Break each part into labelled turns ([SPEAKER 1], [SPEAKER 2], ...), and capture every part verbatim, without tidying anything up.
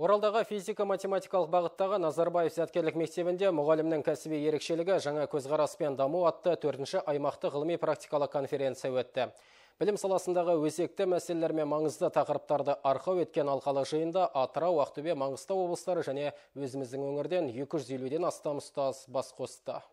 [SPEAKER 1] Оралдағы физика-математикалық бағыттағы Назарбаев зияткерлік мектебінде мұғалімнің кәсіби ерекшелігі жаңа көзқараспен даму атты төртінші аймақты ғылыми практикалық конференция өтті. Білім саласындағы өзекті мәселелер мен маңызды тақырыптарды арқау еткен алқалы жиында Атырау, Ақтөбе, Маңғыстау облыстары және өзіміздің өңірден екі жүз елуден астам ұстаз бас қосты.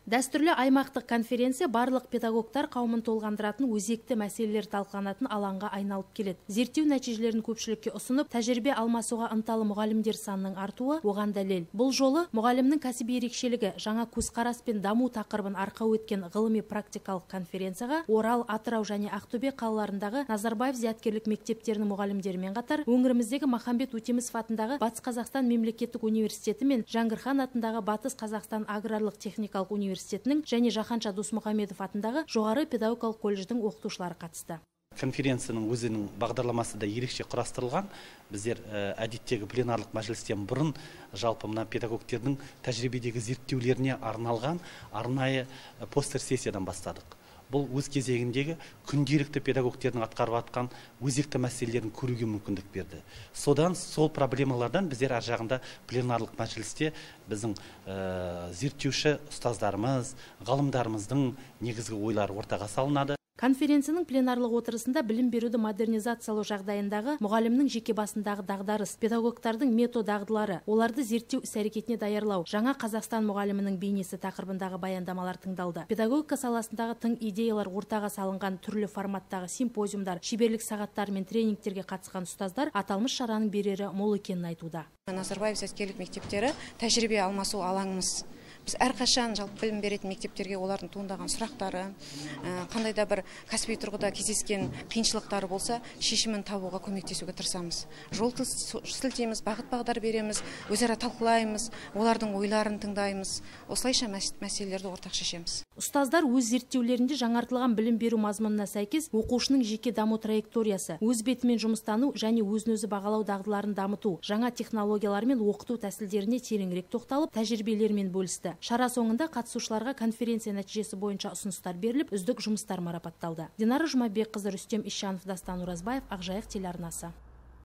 [SPEAKER 2] Дәстүрлі аймақтық конференция барлық педагогтар қауымын толғандыратын өзекті мәселелер талқыланатын алаңға айналып келеді. Зерттеу нәтижелерін көпшілікке ұсынып, тәжірибе алмасуға ынталы мұғалімдер санының артуы оған дәлел. Бұл жолы мұғалімнің кәсіби ерекшелігі жаңа көзқарас пен даму тақырыбын арқау еткен ғылыми практикалық конференцияға Орал, Атырау және Ақтөбе қалаларындағы Назарбаев зияткерлік мектептерінің мұғалімдерімен қатар өңіріміздегі Махамбет Өтемісов атындағы Батыс Қазақстан мемлекеттік университеті мен Жаңғырхан атындағы Батыс Қазақстан аграрлық техникалық университеті университетінің және Жаханша Досмұхамедов атындағы жоғары педагогикалық колледждің оқытушылары қатысты.
[SPEAKER 3] Конференцияның өзінің бағдарламасы да ерекше құрастырылған. Біздер әдеттегі пленарлық мәжілістен бұрын жалпы мына педагогтердің тәжірибедегі зерттеулеріне арналған арнайы постер сессиядан бастадық. Бұл өз кезегіндегі күнделікті педагогтердің атқарып атқан өзекті мәселелерін көруге мүмкіндік берді. Содан сол проблемалардан біздер ар жағында пленарлық мәжілісте біздің ә, зерттеуші ұстаздарымыз, ғалымдарымыздың негізгі ойлары ортаға салынады.
[SPEAKER 2] Конференцияның пленарлық отырысында білім беруді модернизациялау жағдайындағы мұғалімнің жеке басындағы дағдарыс, педагогтардың метод дағдылары, оларды зерттеу іс-әрекетіне даярлау, жаңа Қазақстан мұғалімінің бейнесі тақырыбындағы баяндамалар тыңдалды. Педагогика саласындағы тың идеялар ортаға салынған түрлі форматтағы симпозиумдар, шеберлік сағаттар мен тренингтерге қатысқан ұстаздар аталмыш шараның берері мол екенін айтуда.
[SPEAKER 4] Назарбаев зияткерлік мектептері тәжірибе алмасу алаңымыз. Біз әрқашан жалпы білім беретін мектептерге олардың туындаған сұрақтары, қандай да бір кәсіби тұрғыда кездескен қиыншылықтары болса, шешімін табуға көмектесуге тырысамыз. Жол сілтейміз, бағыт-бағдар береміз, өзара талқылаймыз, олардың ойларын тыңдаймыз. Осылайша мәселелерді ортақ шешеміз.
[SPEAKER 2] Ұстаздар өз зерттеулерінде жаңартылған білім беру мазмұнына сәйкес оқушының жеке даму траекториясы, өз бетімен жұмыстану және өзін-өзі бағалау дағдыларын дамыту, жаңа технологиялар мен оқыту тәсілдеріне тереңірек тоқталып, тәжірибелермен бөлісті. Шара соңында қатысушыларға конференция нәтижесі бойынша ұсыныстар беріліп, үздік жұмыстар марапатталды. Динара Жұмабекқызы, Рүстем Исжанов, Дастан Уразбаев, Ақжайық телеарнасы.